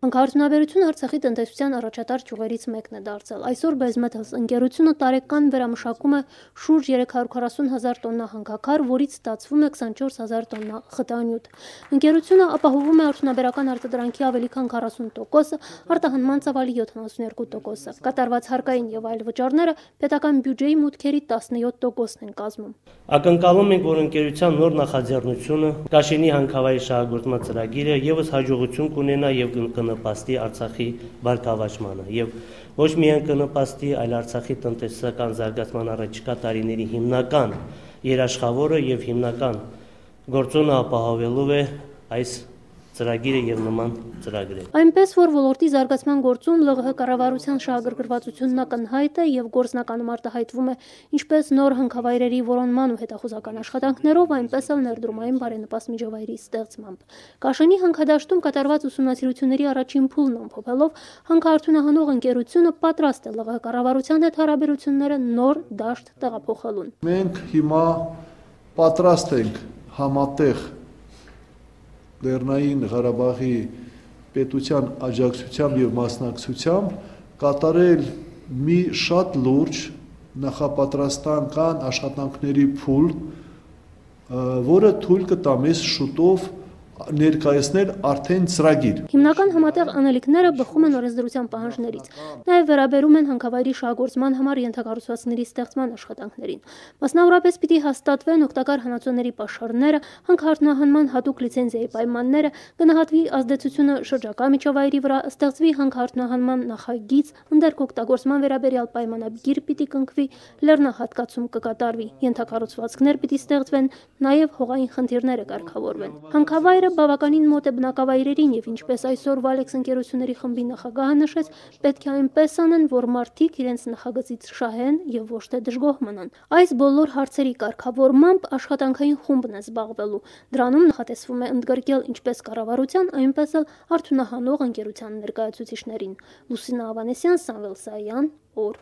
Հանքարդյունաբերությունը Արցախի տնտեսության առաջատար ճյուղերից մեկն է դարձել։ Այսօր BaseMetals ընկերությունը տարեկան վերամշակում է շուրջ 340,000 տոննա հանքաքար, որից ստացվում է 24,000 տոննա խտանյութ։ Ընկերությունը ապահովում է արդյունաբերական արտադրանքի ավելի քան 40%-ը, արտահանման ծավալի 72%-ը։ Կատարված հարկային եւ այլ վճարները պետական բյուջեի մուտքերի 17%-ն են կազմում։ Ակնկալում ենք, որ ընկերության նոր նախաձեռնությունը Կաշենի հանքավայրի շահագործման ծրագիրը եւս հաջողություն կունենա եւ կնպաստի Արցախի բարգավաճմանը եւ ոչ միայն կնպաստի, այլ Արցախի տնտեսական զարգացման առաջիկա տարիների հիմնական երաշխավորը եւ հիմնական գործոնը ապահովելու է այս ծրագիրը եւ նման ծրագրերը։ Այնպես որ ոլորտի զարգացման գործում ԼՂՀ կառավարության շահագրգռվածությունն ակնհայտ է եւ գործնականում արտահայտվում է ինչպես նոր հանքավայրերի որոնման ու հետախուզական աշխատանքներով, այնպես էլ ներդրումային բարենպաստ միջավայրի ստեղծմամբ։ Կաշենի հանքադաշտում կատարված ուսումնասիրությունների առաջին փուլն ամփոփելով հանքարդյունահանող ընկերությունը պատրաստ է ԼՂՀ կառավարության հետ հարաբերությունները նոր դաշտ տեղափոխելուն։ Մենք հիմա պատրաստ ենք համատեղ Լեռնային Ղարաբաղի պետության աջակցությամբ եւ մասնակցությամբ կատարել մի շատ լուրջ նախապատրաստական աշխատանքների փուլ, որը թույլ կտա մեզ շուտով ներկայացնել արդեն ծրագիր։ Հիմնական համատեղ անելիքները բխում են օրենսդրության պահանջներից, նաև վերաբերում են հանքավայրի շահագործման համար ենթակառուցվածքների ստեղծման աշխատանքներին։ Մասնավորապես պիտի հաստատվեն օգտակար հանածոների պաշարները, հանքարդյունահանման հատուկ լիցենզիայի պայմանները, գնահատվի ազդեցությունը շրջակա միջավայրի վրա, ստեղծվի հանքարդյունահանման նախագիծ, ընդերք օգտագործման վերաբերյալ պայմանագիր պիտի կնքվի, լեռնահատկացում կկատարվի, ենթակառուցվածքներ պիտի ստեղծվեն, նաև հողային խնդիրները կարգավորվեն։ Հանքավայրը բավականին մոտ է բնակավայրերին եւ ինչպես այսօր Valex ընկերությունների խմբի նախագահը նշեց, պետք է այնպես անեն, որ մարդիկ իրենց նախագծից շահեն եւ ոչ թե դժգոհ մնան։ Այս բոլոր հարցերի կարգավորմամբ աշխատանքային խումբն է զբաղվելու։ Դրանում նախատեսվում է ընդգրկել ինչպես կառավարության, այնպես էլ արդյունահանող ընկերության ներկայացուցիչներին։ Լուսինա Ավանեսյան, Սամվել Սայան, օր